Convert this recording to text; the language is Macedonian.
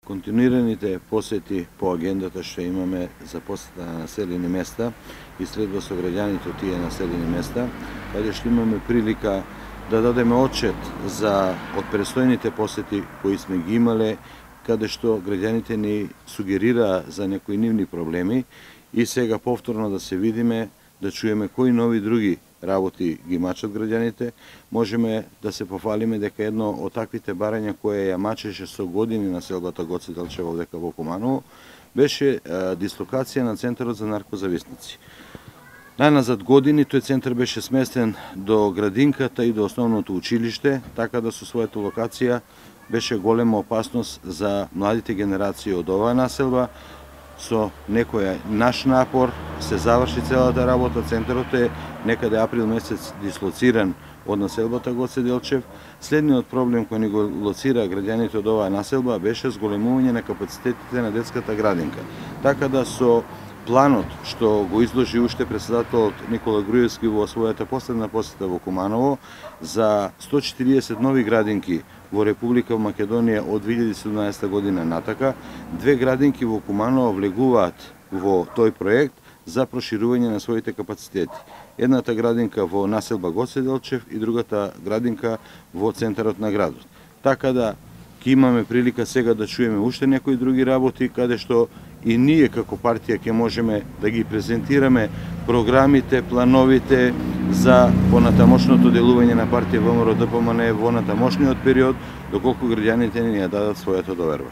Континуираните посети по агендата што имаме за посета на населени места и следва со граѓаните од тие населени места, каде што имаме прилика да дадеме отчет од престојните посети кои сме ги имале, каде што граѓаните ни сугерираа за некои нивни проблеми и сега повторно да се видиме, да чуеме кои нови други работи ги мачат граѓаните. Можеме да се пофалиме дека едно од таквите барања кое ја мачеше со години населбата Гоце Делчево дека во Куманово беше дислокација на Центарот за наркозависници. Најназад години тој центар беше сместен до градинката и до основното училиште, така да со својата локација беше голема опасност за младите генерации од оваа населба. Со некој наш напор се заврши целата работа. Центарот е некаде април месец дислоциран од населбата Гоце Делчев. Следниот проблем кој ни го лоцира граѓаните од оваа населба беше зголемување на капацитетите на детската градинка. Така да со планот што го изложи уште председателот Никола Груевски во својата последна посета во Куманово за 140 нови градинки во Република Македонија од 2017 година натака, 2 градинки во Куманово влегуваат во тој проект за проширување на своите капацитети. Едната градинка во населба Гоце Делчев и другата градинка во центарот на градот. Така да ќе имаме прилика сега да чуеме уште некои други работи, каде што и ние како партија ќе можеме да ги презентираме програмите, плановите за понатамошното делување на партија ВМРО-ДПМНЕ во натамошниот период, доколку граѓаните ни ја дадат својата доверба.